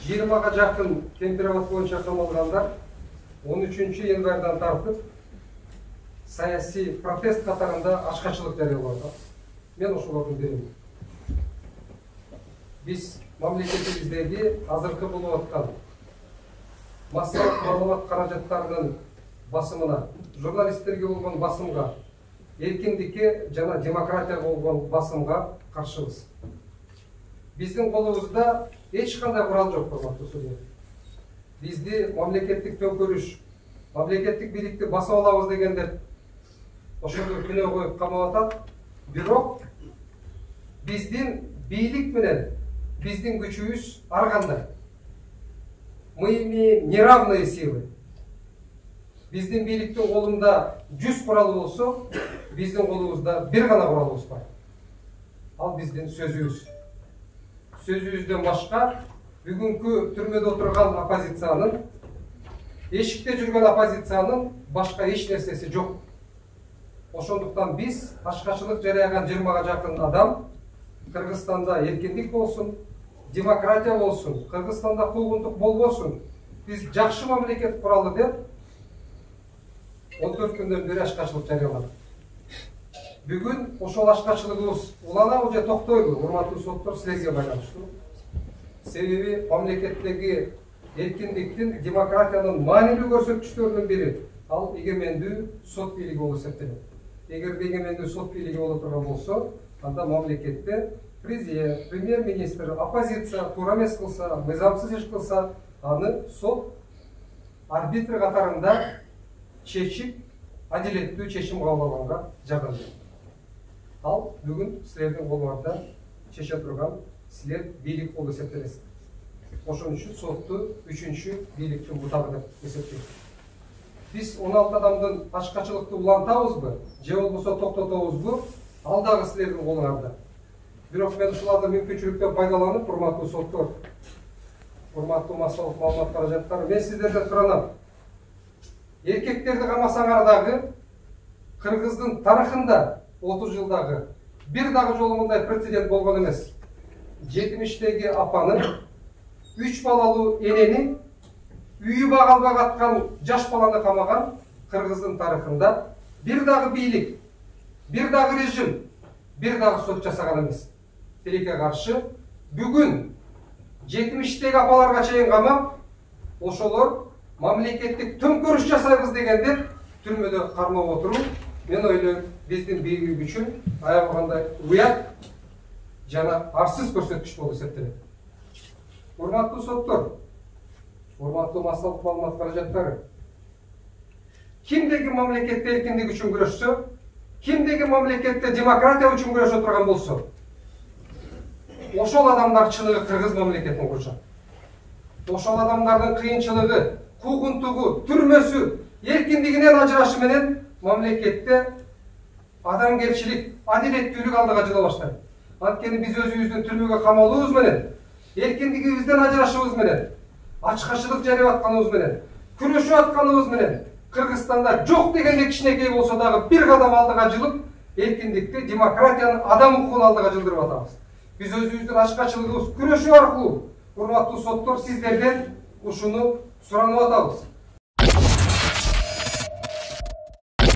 20га жакын температура боюнча камалгандар 13 январдан тартып саясий протест катарында ачкачылык жарыялаган. Мен ошолордун биримин. Биз мамлекетибиздеги азыркы болуп аткан массалык маалымат каражаттарынын басымына, журналисттерге болгон басымга, эркиндикке жана демократияга болгон басымга каршыбыз. Биздин колубузда эч кандай курал жок, урматтуу судья. Бизди мамлекеттик төңкөрүш, мамлекеттик бийликти басып алабыз дегендер ошондой күнөө коюп камап атат. Бирок биздин бийлик менен биздин күчүбүз ар кандай. Мы имеем неравные силы. Биздин бийликтин колунда 100 курал болсо, биздин колубузда бир гана куралыбыз бар. Ал биздин сөзүбүз. Сөзүбүздөн башка бүгүнкү түрмөдө отурган оппозициянын, эшикте жүргөн оппозициянын башка эч нерсеси жок. Ошондуктан биз ачкачылык жарыяган 20га жакын адам Кыргызстанда эркиндик болсун, демократия болсун, Кыргызстанда куугунтук болбосун, биз жакшы мамлекет куралы деп 14 күндөн бери ачкачылык жарыяладык. Бүгүн ошол ачкачылыгыбыз уланабы же токтойбу, урматтуу соттор, силерге байланыштуу. Себеби мамлекеттеги эркиндиктин, демократиянын маанилүү көрсөткүчтөрүнүн бири ал эгемендүү сот бийлиги болуп эсептелет. Эгер эгемендүү сот бийлиги боло турган болсо, анда мамлекетте президент, премьер-министр, оппозиция туура эмес кылса, мыйзамсыз иш кылса, аны сот арбитр катарында чечип, адилеттүү чечим кабыл алганга жардам берет. Ал бүгүн силердин колуңарда чече турган силер бийлик болуп эсептелесиз. Ошон үчүн сотту 3-чү бийликтин бутагы деп эсептейт. Биз 16 адамдын ачкачылыкты улантабызбы, же болбосо токтотобузбу, ал дагы силердин колуңарда. Бирок мен ушул азыр мүмкүнчүлүктөн пайдаланып, урматтуу соттор, урматтуу массалык маалымат каражаттары, мен сиздерден суранам. Эркектерди камасаңар дагы Кыргыздын тарыхында 30 жылдагы бир дагы жолу мындай прецедент болгон эмес. 70-теги апаны, 3 балалуу энени, үйү бага албай каткан жаш баланы камаган Кыргыздын тарыхында бир дагы бийлик, бир дагы режим, бир дагы сот жасаган эмес. Тилекке каршы бүгүн 70-теги апаларга чейин камап, ошолор мамлекеттик төңкөрүш жасайбыз дегендер түрмөдө кармап отуруп, мен ойлойм, биздин бийлик үчүн аябагандай уят жана арсыз көрсөткүч болуп эсептелет. Урматтуу соттор, урматтуу массалык маалымат каражаттары, кимдеги мамлекетте эркиндик үчүн күрөшсө, кимдеги мамлекетте демократия үчүн күрөшө турган болсо, ошол адамдар чыныгы Кыргыз мамлекетин курушат. Ошол адамдардын кыйынчылыгы, куугунтугу, түрмөсү, эркиндигинен ажырашы менен мамлекетте адамгерчилик, адилеттүүлүк алдыга жыла баштайт. Анткени биз өзүбүздүн түрмөгө камалуубуз менен, эркиндигибизден ажырашыбыз менен, ачкачылык жарыяп атканыбыз менен, күрөшүп атканыбыз менен Кыргызстанда жок дегенде кичинекей болсо дагы бир кадам алдыга жылып, эркиндикти, демократияны, адам укугун алдыга жылдырып атабыз. Биз өзүбүздүн ачкачылыгыбыз күрөшүү аркылуу, урматтуу соттор, сиздерден ушуну суранып атабыз.